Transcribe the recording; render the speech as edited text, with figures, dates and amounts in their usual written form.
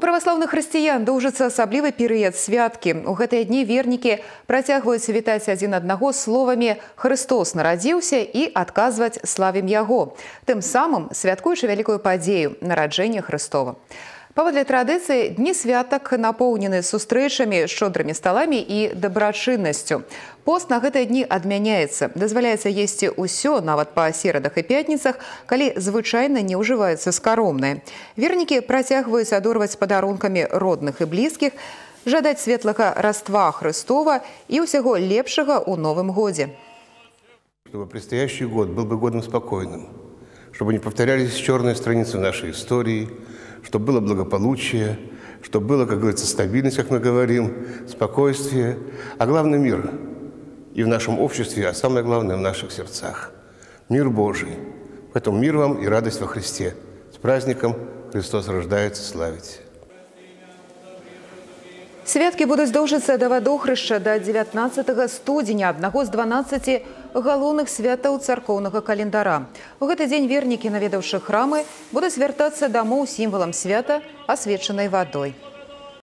православных хрысціян доўжыцца асаблівы перыяд святкі. У гэтыя дні вернікі працягваюць вітаць адзін аднаго словамі «Христос нарадзіўся» і адказваць «Славім Яго», тым самым святкуючы вялікую падзею – нараджэнне Христова. Паводле традыцыі, дні святак напоўнены сустрэчамі, шчодрымі сталамі і дабрачыннасцю. Пост на гэтыя дні адмяняецца. Дазваляецца есці ўсё, нават па серадах і пятніцах, калі звычайна не ўжываецца скаромнае. Вернікі працягваюць адорваць падарункамі родных і блізкіх, жадаць светлага раства Христова і ўсяго лепшага ў новым годзе. Чтобы предстоящий год был бы годом спокойным, чтобы не повторялись черные страницы нашей истории, чтобы было благополучие, чтобы было, как говорится, стабильность, как мы говорим, спокойствие, а главное – мир. И в нашем обществе, а самое главное – в наших сердцах. Мир Божий. Поэтому мир вам и радость во Христе. С праздником Христос рождается, славите. Святкі будуць доўжыцца да вадохрышча да 19 студзеня, аднаго з 12 галоўных святаў царкоўнага календара. У гэты дзень вернікі, наведаўшы храмы, будуць вяртацца дамоў сімвалам свята, асвечанай вадой.